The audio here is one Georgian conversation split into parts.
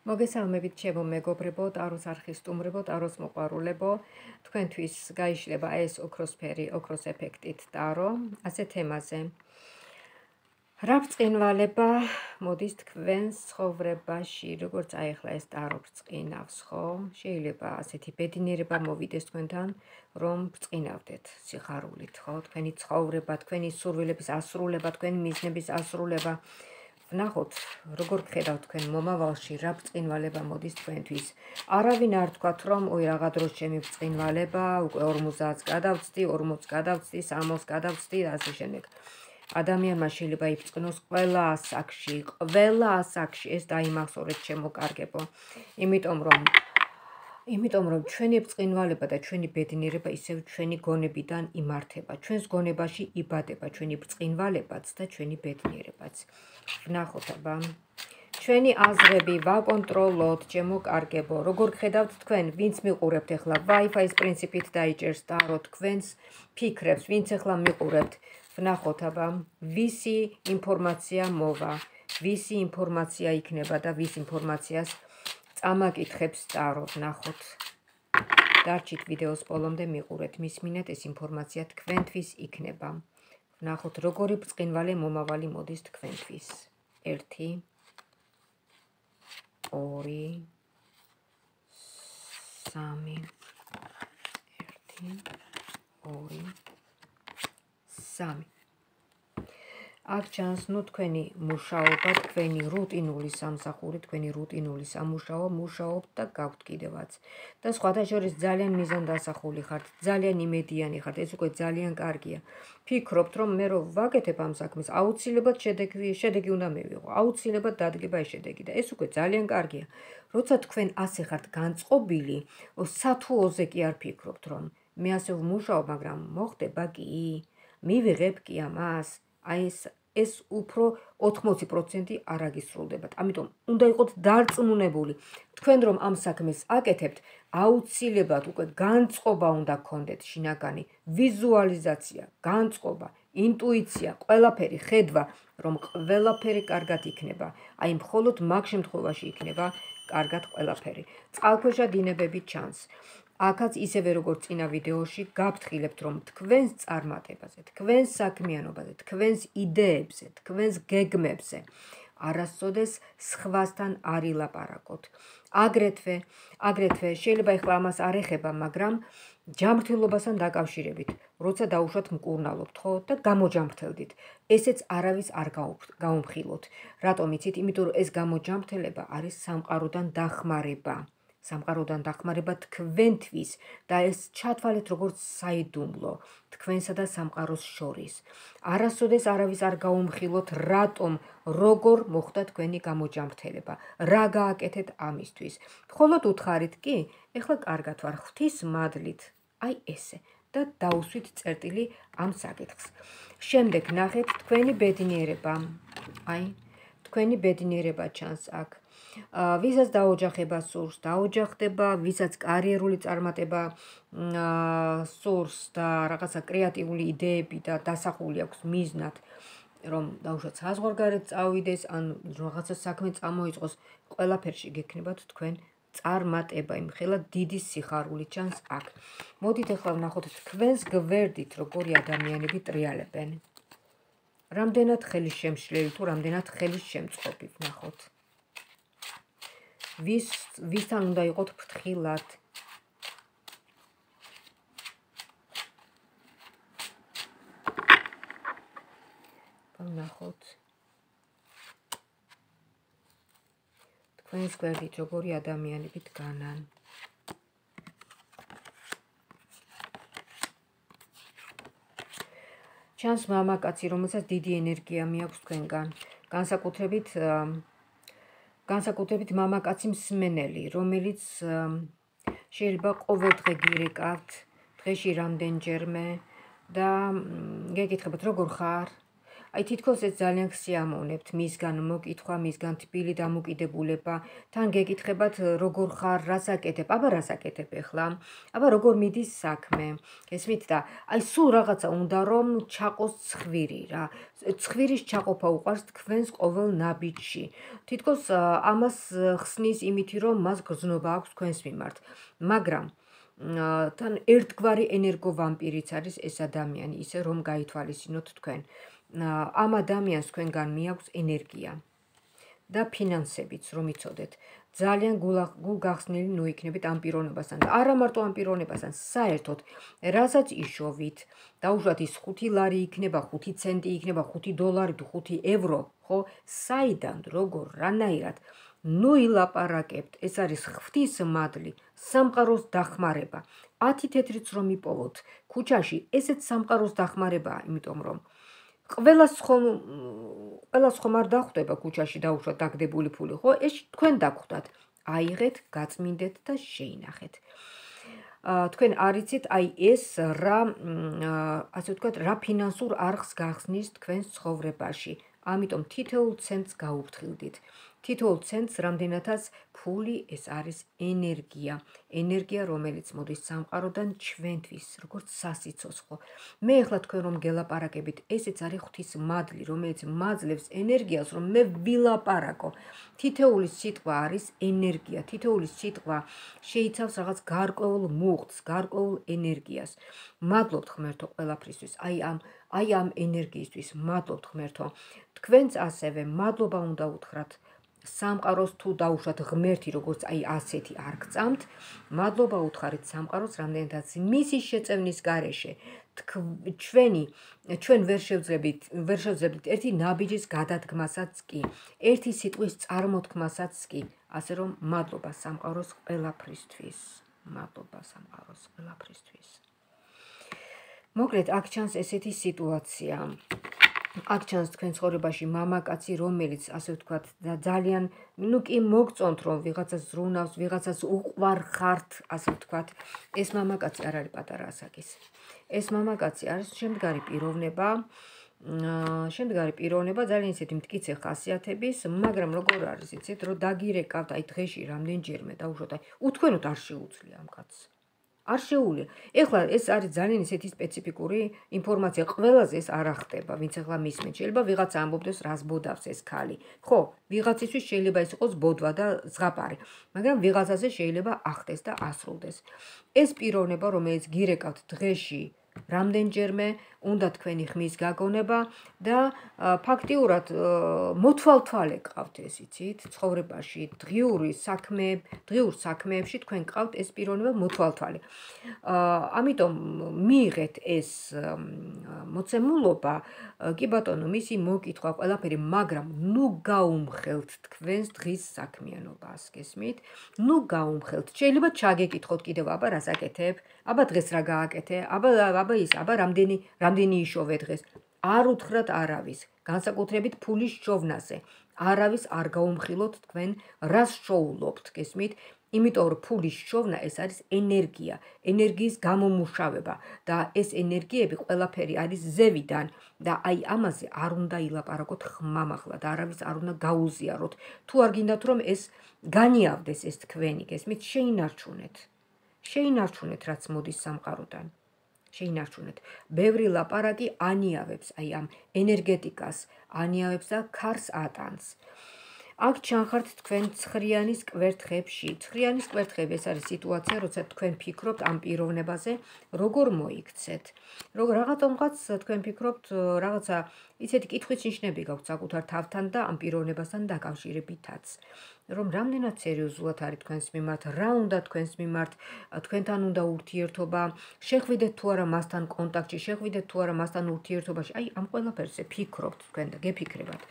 მოგესალმებით ჩემო მეგობრებო, ტაროს არხის სტუმრებო, ტაროს მოყვარულებო. თქვენთვის გაიშლება ეს ოქროსფერი, ოქროს ეფექტით ტარო, ასე თემაზე. რა ბრწყინვალება მოდის თქვენს ცხოვრებაში, როგორც აი ახლა ეს ტარო ბრწყინავს, ხო? შეიძლება ასეთი ბედნიერება მოვიდეს თქვენთან, რომ ბრწყინავდეთ სიხარულით, ხო? თქვენი ცხოვრება, თქვენი სურვილების ასრულება, თქვენი მიზნების ასრულება. ვნახოთ, როგორ გხედავთ თქვენ მომავალში, რა ბრწყინვალება მოდის თქვენთვის. არავინ არ თქვათ, რომ ой რაღა დროს ჩემი ბრწყინვალება, უკვე 50-ს გადავწდი, 40-ს გადავწდი, 60-ს გადავწდი და ასე შემდეგ. ადამიანმა შეიძლება იბრწყინოს ყველა ასაკში, ეს დაიმახსოვრეთ ჩემო კარგებო. იმიტომ რომ ჩვენი ბრწყინვალება და ჩვენი ბედნიერება ისევ ჩვენი გონებიდან იმართება. ჩვენს გონებაში იბადება ჩვენი ბრწყინვალებაც და ჩვენი ბედნიერებაც. ვნახოთ აბა. ჩვენი აზრები ვაკონტროლოთ, ჩემო კარგებო. როგორ გხედავთ თქვენ, ვინც მიყურებთ ახლა Wi-Fi-ის პრინციპით დაიჭერს ტარო თქვენს ფიქრებს, ვინც ახლა მიყურებთ. ვნახოთ აბა, ვისი ინფორმაცია მოვა, ვისი ინფორმაცია იქნება და ვის ინფორმაციას წამაკითხებს ტარო, ვნახოთ. დარჩით ვიდეოს ბოლომდე მიყურეთ, მისმინეთ ეს ინფორმაცია თქვენთვის იქნება. ვნახოთ, როგორი ბრწყინვალე მომავალი მოდის თქვენთვის. 1 2 3 1 2 3 აქ ჩანს თქვენი მუშაობა, თქვენი რუტინული სამსახური, თქვენი რუტინული სამუშაო, მუშაობთ და გაქვთ კიდევაც. და სხვათა შორის ძალიან მიზანდასახული ხართ, ძალიან იმედიანი ხართ, ეს უკვე ძალიან კარგია. ფიქრობთ, რომ მე რო ვაკეთებ ამ საქმეს, აუცილებლად შედეგი უნდა მივიღო, აუცილებლად დადგება ეს შედეგი და ეს უკვე ძალიან კარგია. როცა თქვენ ასე ხართ განწყობილი, სათუოზე კი არ ფიქრობთ, რომ მე ასე ვმუშაობ, მაგრამ მოხდება კი, მივიღებ კი ამას, აი ეს უფრო 80% არ აგისრულდებათ. ამიტომ უნდა იყოთ დარწმუნებული. თქვენ რომ ამ საქმეს აკეთებთ, აუცილებლად უკვე განწყობა უნდა გქონდეთ შინაგანი, ვიზუალიზაცია, განწყობა, ინტუიცია, ყველაფერი ხედვა, რომ ყველაფერი კარგად იქნება. აი მხოლოდ მაგ შემთხვევაში იქნება კარგად ყველაფერი. წყალქვეშა დინებები ჩანს. აქაც ისევე როგორც წინა ვიდეოში გაფრთხილებთ, რომ თქვენს წარმატებაზე, თქვენს საქმიანობაზე, თქვენს იდეებზე, თქვენს გეგმებზე არასოდეს სხვასთან არ ილაპარაკოთ. აგრეთვე შეიძლება ეხლა ამას არ ეხება, მაგრამ ჯანმრთელობასთან დაკავშირებით, როცა დაუშვათ მკურნალობთ, ხო, და გამოჯანმრთელდით, ესეც არავის არ გაუმხილოთ. რატომ იცით? იმიტომ რომ ეს გამოჯანმრთელება არის სამყაროდან დახმარება. სამყაროდან დახმარება თქვენთვის და ეს ჩათვალეთ როგორც საიდუმლო თქვენსა და სამყაროს შორის. არასოდეს არავის არ გაუმხილოთ, რატომ, როგორ მოხდა თქვენი გამოჯანმრთელება, რა გააკეთეთ ამისთვის. მხოლოდ უთხარით კი, ეხლა კარგად ვარ, ღვთის მადლით, აი ესე და დაუსვით წერტილი ამ საკითხს. შემდეგ ნახეთ თქვენი ბედნიერება. აი, თქვენი ბედნიერება ჩანს აქ. ვისაც დაოჯახება სურს, დაოჯახდება, ვისაც კარიერული წარმატება სურს და რაღაცა კრეატიული იდეები და დასახული აქვს მიზნად, რომ დაუშვათ საზღვარგარეთ წავიდეს, ან რაღაცა საქმე წამოიწყოს, ყველაფერში გექნებათ თქვენ წარმატება, იმხელა დიდი სიხარული ჩანს აქ. მოდით ახლა ვნახოთ თქვენს გვერდით როგორი ადამიანები ტრიალებენ. რამდენად ხელისშემშლელი თუ რამდენად ხელისშემწყობი ვნახოთ. ვისთან უნდა იყოთ ფრთხილად. ვნახოთ. თქვენს გვერდით როგორი ადამიანები დგანან. ჩანს მამაკაცი, რომელსაც დიდი ენერგია მიაქვს თქვენგან. განსაკუთრებით მამაკაცი მსმენელი, რომელიც შეიძლება ყოველდღე გირეკავთ, დღეში რამდენჯერმე და გეკითხებათ როგორ ხარ, აი თითქოს ეს ძალიან გსიამოვნებთ მისგან მოკითხვა, მისგან თბილი დამოკიდებულება, თან გეკითხებათ როგორ ხარ, რას აკეთებ, აბა რას აკეთებ ახლა, აბა როგორ მიდის საქმე, გესმით და აი სულ რაღაცა უნდა რომ ჩაყოს ცხვირი რა, ცხვირის ჩაყოფა უყვარს თქვენს ყოველ ნაბიჯში, თითქოს ამას ხსნის იმითი რომ მას გრძნობა აქვს თქვენს მიმართ, მაგრამ თან ერთგვარი ენერგოვამპირიც არის ეს ადამიანი, ისე რომ გაითვალისწინოთ თქვენ. ამ ადამიანს თქვენგან მიაქვს ენერგია და ფინანსებიც რომ იცოდეთ. ძალიან გულგახსნილი ნუ იქნებით ამ პიროვნებასთან და არა მარტო ამ პიროვნებასთან, საერთოდ რასაც იშოვით, დაუშვათ ის 5 ლარი იქნება, 5 ცენტი იქნება, 5 დოლარი თუ 5 ევრო, ხო? საიდან, როგორ, რანაირად ნუ ილაპარაკებთ, ეს არის ღვთის მადლი, სამყაროს დახმარება. 10 თეთრიც რომ იპოვოთ ქუჩაში, ესეც სამყაროს დახმარებაა, იმიტომ რომ ყველას ხომ არ დახვდება ქუჩაში დაუშვათ დაგდებული ფული, ხო? ეს თქვენ დაგხვდათ. აიღეთ, გაწმინდეთ და შეინახეთ. თქვენ არიცით, აი ეს რა, ასე ვთქვათ, რა ფინანსურ არხს გახსნის თქვენს ცხოვრებაში. ამიტომ თითოეულ ცენტს გაუფრთხილდით. თითოეულ ცენტს რამდენადაც ფული ეს არის ენერგია. ენერგია, რომელიც მოდის სამყაროდან ჩვენთვის, როგორც სასიცოცხლო. მე ახლა თქვენ რომ გელაპარაკებით, ესეც არის ღვთის მადლი, რომელიც მაძლევს ენერგიას, რომ მე ვილაპარაკო. თითოეული სიტყვა არის ენერგია, თითოეული სიტყვა შეიცავს რაღაც გარკვეულ მუხტს, გარკვეულ ენერგიას. მადლობთ ღმერთო ყველაფრისთვის, აი ამ ენერგიისთვის, მადლობთ ღმერთო. თქვენც ასევე მადლობა უნდა უთხრათ სამყაროს თუ დაუშვათ ღმერთი, როგორც აი ასეთი არ გწამთ, მადლობა უთხარით სამყაროს, რამდენადაც მისი შეწევნის გარეშე ჩვენ ვერ შევძლებთ ერთი ნაბიჯის გადადგმასაც კი, ერთი სიტყვის წარმოთქმასაც კი, ასე რომ მადლობა სამყაროს ყველაფრისთვის. მადლობა სამყაროს ყველაფრისთვის. მოკლედ, აქ ჩანს ესეთი სიტუაცია. აქ ჩანს თქვენ ცხოვრებაში მამაკაცი, რომელიც ასე ვთქვათ, ძალიან, ნუ კი მოგწონთ რომ ვიღაცას ზრუნავს, ვიღაცას უყვარ ხართ, ასე ვთქვათ, ეს მამაკაცი არ არის პატარა ასაკის. ეს მამაკაცი არის შემდგარი პიროვნება, ძალიან ისეთი მტკიცე ხასიათების, მაგრამ როგორ არის, იცით, რომ დაგირეკავთ აი დღეში რამდენჯერმე დაუშვათ, აი უთქვენოთ არ შეუძლია ამ კაცს. არ შეუძლია. ეხლა ეს არის ძალიან ისეთი სპეციფიკური ინფორმაცია, ყველაზე ეს არ ახტება, ვინც ეხლა მისმენთ. შეიძლება ვიღაცა ამბობდეს, რას ბოდავს ეს ქალი. ხო, ვიღაცისთვის შეიძლება ის იყოს ბოდვა და ზღაპარი, მაგრამ ვიღაცაზე შეიძლება ახტეს და ასრულდეს. ეს პიროვნება, რომელიც გირეკავთ დღეში რამდენჯერმე, უნდა თქვენი ხმის გაგონება და ფაქტიურად მოთვალთვალე გყავთ ეს, იცით, ცხოვრებაში, დღიურ საქმეებში თქვენ გყავთ ეს პიროვნება მოთვალთვალე. ამიტომ მიიღეთ ეს მოცემულობა, კი ბატონო, მისი მოკითხვა ყველაფერი, მაგრამ ნუ გაუმხელთ თქვენს დღის საქმიანობას, გესმით? ნუ გაუმხელთ. შეიძლება ჩაგეკითხოთ კიდევ, აბა რას აკეთებ? აბა დღეს რა გააკეთე? აბა რამდენი იშოვე დღეს? არ უთხრათ არავის, განსაკუთრებით ფულის შოვნაზე. არავის არ გაუმხილოთ თქვენ რას შოულობთ, გესმით? იმიტომ რომ ფულის შოვნა ეს არის ენერგია, ენერგიის გამომუშავება და ეს ენერგიები ყველაფერი არის ზევიდან და აი ამაზე არ უნდა ილაპარაკოთ ხმამაღლა და არავის არ უნდა გაუზიაროთ. თუ არ გინდათ რომ ეს განიავდეს ეს თქვენი, გესმით? შეინარჩუნეთ რაც მოდის სამყაროდან. შეინარჩუნეთ. ბევრი ლაპარაკი ანიავებს აი ამ ენერგეტიკას, ანიავებს და ქარს ატანს. აქ ჩანხართ თქვენ ცხრიანის კვერთხებში. ცხრიანის კვერთხები ეს არის სიტუაცია, როცა თქვენ ფიქრობთ ამ პიროვნებაზე, როგორ მოიქცეთ. რაღაცომღაც თქვენ ფიქრობთ, რაღაცა ისეთი კითხვის ნიშნები გაქვთ საკუთარ თავთან და ამ პიროვნებასთან დაკავშირებითაც. რომ რამდენად სერიოზულად არის თქვენს მიმართ, რა უნდა თქვენს მიმართ, თქვენთან უნდა ურთიერთობა, შეხვიდეთ თუ არა მასთან კონტაქტში, შეხვიდეთ თუ არა მასთან ურთიერთობაში. აი ამ ყველაფერზე ფიქრობთ თქვენ და გეფიქრებათ.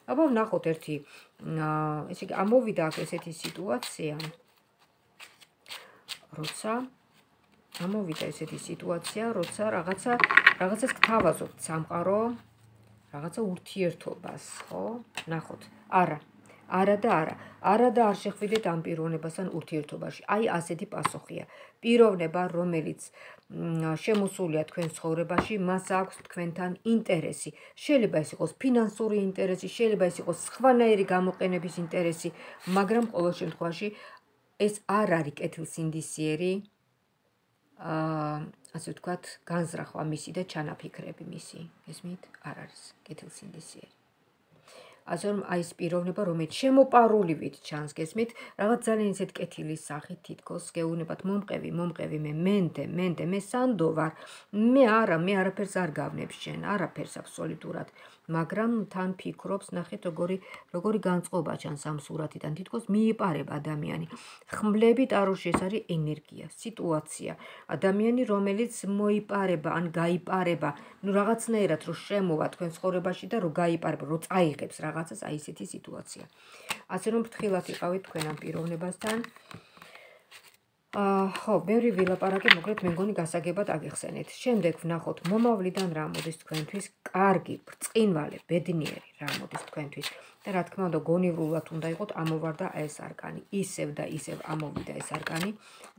აბა ვნახოთ ერთი, ესე იგი ამოვიდა აქ ესეთი სიტუაცია, როცა რაღაცას გთავაზობთ სამყარო, რაღაცა ურთიერთობას, ხო? ნახოთ. არა. არა და არა. არა და არ შეხვიდეთ ამ პიროვნებასთან ურთიერთობაში. აი ასეთი პასუხია. პიროვნება, რომელიც შემოსულია თქვენ ცხოვრებაში, მას აქვს თქვენთან ინტერესი. შეიძლება ეს იყოს ფინანსური ინტერესი, შეიძლება ეს იყოს სხვანაირი გამოყენების ინტერესი, მაგრამ ყოველ შემთხვევაში ეს არ არის კეთილსინდისიერი, ასე ვთქვათ, განზრახვა მისი და ჩანაფიქრები მისი. გესმით? არ არის კეთილსინდისიერი. ასე რომ აი ეს პიროვნება, რომელიც შემოპარულივით ჩანს, გესმით, რაღაც ძალიან ისეთ კეთილის სახით თითქოს გეუბნებათ, მომყევი, მენდე, მე სანდო ვარ, მე არაფერს არ გავნებ შენ, არაფერს აბსოლუტურად, მაგრამ თან ფიქრობს, ნახეთ როგორი განწყობა ჩანს ამ სურათიდან, თითქოს მიიპარება ადამიანი. ხმლები ტაროში ეს არის ენერგია, სიტუაცია, ადამიანი, რომელიც მოიპარება ან გაიპარება, ნუ რაღაცნაირად რო შემოვა თქვენ ცხოვრებაში და რო გაიპარება, რო წაიღებს რაღაცას, აი ესეთი სიტუაცია. ასე რომ ფრთხილად იყავით თქვენ ამ პიროვნებასთან. ხო, ბევრი ვილაპარაკე, მოკლედ მე მგონი გასაგებად აგიხსენეთ. შემდეგ ვნახოთ მომავლიდან რა მოდის თქვენთვის, კარგი, ბრწყინვალე, ბედნიერი რა მოდის თქვენთვის. და რა თქმა უნდა, გონივრულად უნდა იყოთ ამოვარდა ეს არკანი. ისევ და ისევ ამოვიდა ეს არკანი.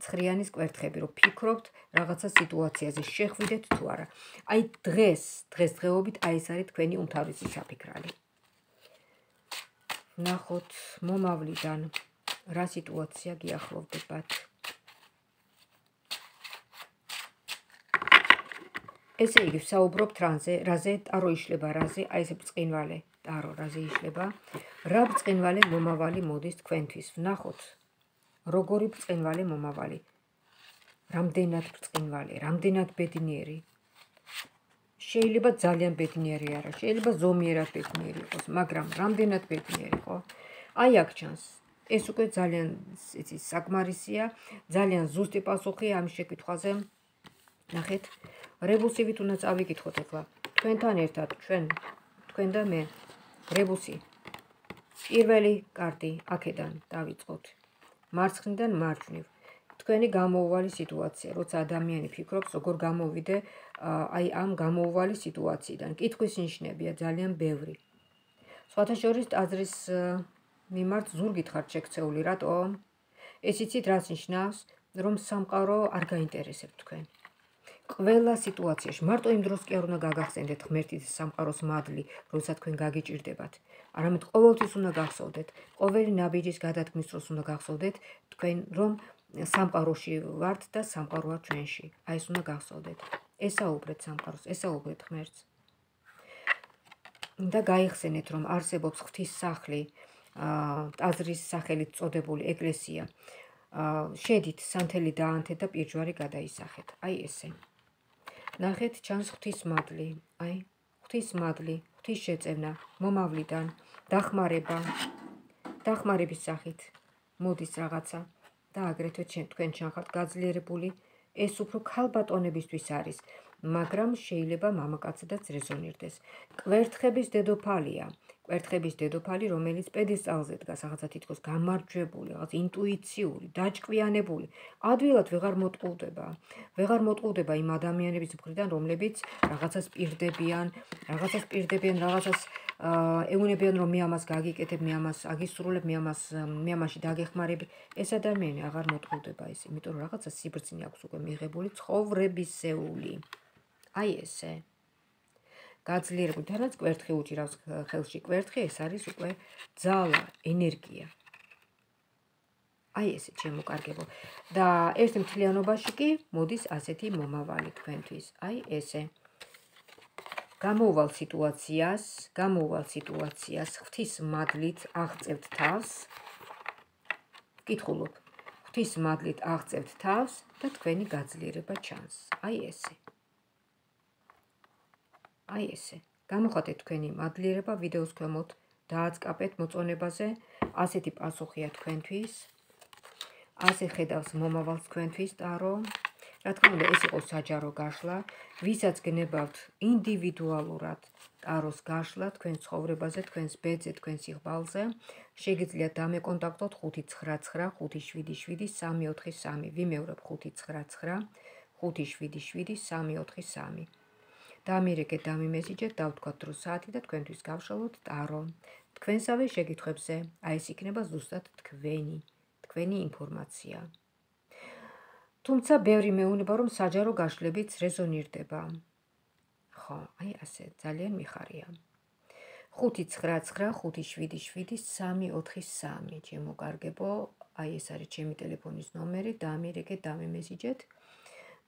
ცხრიანის კვერთხები, რომ ფიქრობთ რაღაცა სიტუაციაზე, შეხვიდეთ თუ არა. აი დღესდღეობით აი ეს არის თქვენი უმთავრესი საფიქრალი. ვნახოთ მომავლიდან რა სიტუაცია გიახლოვდებათ. ესე იგი, ვსაუბრობთ რაზე, ტარო იშლება რაზე, აი ესე ბრწყინვალე ტარო რაზე იშლება. რა ბრწყინვალე მომავალი მოდის თქვენთვის. ვნახოთ, როგორი ბრწყინვალე მომავალი. რამდენად ბრწყინვალე, რამდენად ბედნიერი. შეიძლება ძალიან ბედნიერი არა, შეიძლება ზომიერად ბედნიერი იყოს, მაგრამ რამდენად ბედნიერი, ხო? აი აქ ჩანს. ეს უკვე ძალიან საკმარისია, ძალიან ზუსტი პასუხია ამ შეკითხვაზე. ნახეთ, რებუსივით უნდა წავიკითხოთ ახლა. თქვენთან ერთად, თქვენ და მე. რებუსი. პირველი კარტი აქედან დავიწყოთ. მარცხნიდან მარჯვნივ. თქვენი გამოუვალი სიტუაცია, როცა ადამიანი ფიქრობს, როგორ გამოვიდე აი ამ გამოუვალი სიტუაციიდან. კითხვის ნიშნებია ძალიან ბევრი. სხვათა შორის ტაძრის მიმართ ზურგით ხართ შექცეული, რატომ? ეს იცით რას ნიშნავს? რომ სამყარო არ გაინტერესებთ თქვენ. ყველა სიტუაციაში, მარტო იმ დროს კი არ უნდა გაგახსენდეთ ღმერთის სამყაროს მადლი, როცა თქვენ გაგიჭირდებათ. არამედ ყოველთვის უნდა გახსოვდეთ, ყოველი ნაბიჯის გადადგმის დროს უნდა გახსოვდეთ თქვენ, რომ სამყაროში ვართ და სამყაროა ჩვენში. აი ეს უნდა გახსოვდეთ. ესაუბრეთ სამყაროს, ესაუბრეთ ღმერთს. და გაიხსენეთ, რომ არსებობს ღვთის სახლი, ტაძრის სახელით წოდებული ეკლესია. შედით სანთელი დაანთეთ და პირჯვარი გადაისახეთ. აი ესე. ნახეთ, ჩანს ღვთის მადლი, აი, ღვთის მადლი, ღვთის შეწევნა, მომავლიდან, დახმარების სახით მოდის რაღაცა და აგრეთვე თქვენ ჩანხართ გაძლიერებული, ეს უფრო ქალბატონებისთვის არის, მაგრამ შეიძლება მამაკაცადაც რეზონირდეს. კვერთხების დედოფალი, რომელიც პედესტალზე დგას, რაღაცა თითქოს გამარჯვებული, რაღაც ინტუიციური, დაჭკვიანებული, ადვილად ვეღარ მოტყუდება იმ ადამიანების მხრიდან, რომლებიც რაღაცას პირდებიან, რაღაცას ეუბნებიან, რომ მე ამას გაგიკეთებ, მე ამას აგისრულებ, მე ამაში დაგეხმარები. ეს ადამიანი აღარ მოტყუდება ის, იმიტომ რომ რაღაცა სიბრძნე აქვს უკვე მიღებული ცხოვრებისეული. აი ესე. გაძლიერებული, თანაც კვერთხი უჭირავს ხელში. კვერთხი ეს არის უკვე ძალა, ენერგია. აი ესე ჩემო კარგებო. და ერთ მთლიანობაში კი მოდის ასეთი მომავალი თქვენთვის. აი ესე. გამოუვალ სიტუაციას ღვთის მადლით აღწევთ თავს. კითხულობ. ღვთის მადლით აღწევთ თავს და თქვენი გაძლიერება ჩანს. აი ესე. აი ესე. გამოხატეთ თქვენი მადლიერება ვიდეოს ქვემოთ, დააწყაპეთ მოწონებაზე. ასეთი პასუხია თქვენთვის. ასე ხედავს მომავალს თქვენთვის ტარო. რა თქმა უნდა, ეს იყო საჯარო გაშლა, ვისაც გნებავთ ინდივიდუალურად ტაროს გაშლა თქვენ ცხოვრებაზე, თქვენს ბედზე, თქვენს სიღბალზე, შეგიძლიათ დამეკონტაქტოთ 599 577 343. ვიმეორებ 599 577 343. დამირეკეთ, დამიმესიჯეთ, დავთქვათ დრო საათი და თქვენთვის გავშალოთ ტარო. თქვენსავე შეკითხვებზე. აი ეს იქნება ზუსტად თქვენი ინფორმაცია. თუმცა ბევრი მეუნება, რომ საჯარო გაშლებიც რეზონირდება. ხო, აი ასე, ძალიან მიხარია. 599577343. ჩემო კარგებო, აი ეს არის ჩემი ტელეფონის ნომერი, დაამირეკეთ, დამემესიჯეთ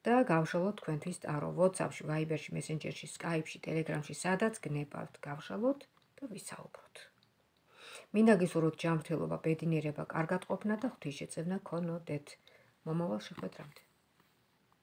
და გავშალოთ თქვენთვის ტარო WhatsApp-ში, Viber-ში, Messenger-ში, Skype-ში, Telegram-ში, სადაც გნებავთ, გავშალოთ და ვისაუბროთ. მინდა გისურვოთ ჯანმრთელობა, ბედნიერება, კარგად ყოფნა და ღვთისშეწევნა გქონოდეთ. მომავალ შეხვედრამდე.